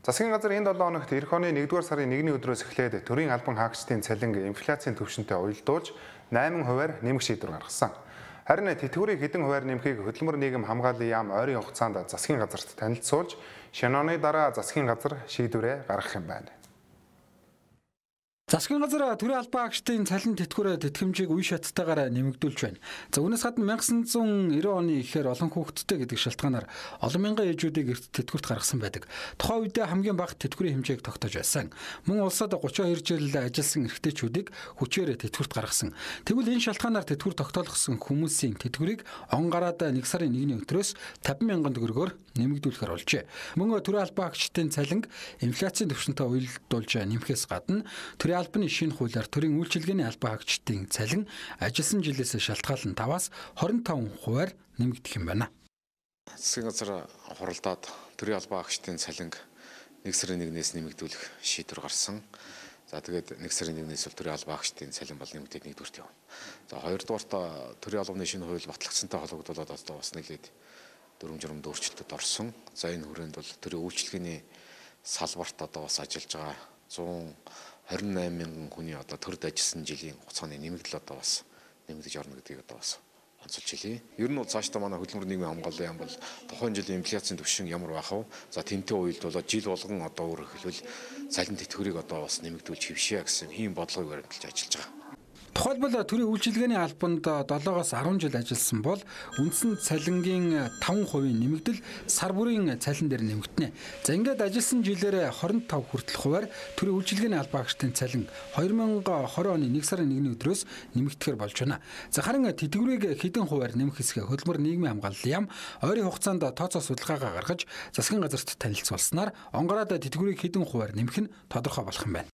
Засгийн газар энэ 7 хоногт эх оны 1-р сарын 1-ний өдрөөс эхлээд төрийн албан хаагчдын цалин инфляцийн түвшинтэй уялдуулж 8%-аар нэмэх шийдвэр гаргасан. Харин тэтгэврийг хэдэн хувиар нэмэхийг хөдөлмөр нийгэм хамгааллын яам ойрын хугацаанд засгийн газарт танилцуулж, шинэ оны дараа засгийн газар шийдвэрээ гаргах юм байна. Засгийн газар төрийн албан хаагчдын цалин тэтгэврээ тэтгэмжийг үе шаттайгаар нэмэгдүүлж байна. За үүнээс гадна 1990 оны ихээр олон хүүхэдтэй гэдэг шалтгаанаар олон мянган ээжүүдийг эрт тэтгэврт гаргасан байдаг. Тухайн үедээ хамгийн бага тэтгэврийн хэмжээг тогтоож байсан. Мөн улсад 32 жил ажилласан эрэгтэйчүүдийг хүчээр тэтгэврт гаргасан. Тэгвэл энэ шалтгаанаар тэтгэвэр тогтоолгосон хүмүүсийн тэтгэврийг он гараад 1 сарын 1-ний өдрөөс 50,000 төгрөгөөр нэмэгдүүлэхээр болжээ. Мөн төрийн албан хаагчдын цалин инфляцийн түвшинтэй уялдуулж нэмэхээс гадна төрийн албаны шинэ хуулиар төрийн үйлчилгээний албан хаагчдын цалин ажилласан жилээс шалтгаалan 5-аас 25%-аар нэмэгдэх юм байна. Засгийн газар хуралдаад төрийн албан хаагчдын цалин 1 сарын 1-ээс нэмэгдүүлэх шийдвэр гарсан. За тэгээд 1 сарын 1-ээс бол төрийн албан хаагчдын цалин бол нэмэгдээд 1-р явна. За 2-р төрийн албаны шинэ хууль батлагдсантай холбогдуулаад одоо бас нэлээд дүрм журмд өөрчлөлтөд орсон. За энэ хүрээнд бол төрийн үйлчилгээний салбарт одоо бас ажиллаж байгаа 128,000 хүний одоо төрд ажилласан жилийн хугацааны нэмэгдэл одоо бас нэмэгдэж орно гэдгийг одоо бас онцолж хэлье. Ер нь бол цаашдаа манай хөдөлмөр нийгмийн хамгааллын яам бол тухайн жилийн инфляцийн түвшин ямар байх вэ? За тэнтэй уялдуулаад жил болгон одоо өөрөөр хэлбэл цалин тэтгэврийг одоо бас нэмэгдүүлж хэвшээ гэсэн ийм бодлогыг баримталж ажиллаж байгаа. Тухайлбал төрийн үйлчилгээний албанд 7-оос 10 жил ажилласан бол үндсэн цалингийн 5% нэмэгдэл сар бүрийн цалин дээр нэмэгдэнэ. За ингээд ажилласан жилээр 25 хүртэл хувиар төрийн үйлчилгээний албан хаагчдын цалин 2020 оны 1 сарын 1-ний өдрөөс нэмэгдэхээр болж байна. За харин тэтгэврийг хэдэн хувиар нэмэх хэсгээ хөдөлмөр нийгмийн хамгааллын яам ойрын хугацаанд тооцоо судалгаагаа гаргаж засгийн газарт танилцуулснаар он гараад тэтгэврийг хэдэн хувиар нэмэх нь тодорхой болох юм байна.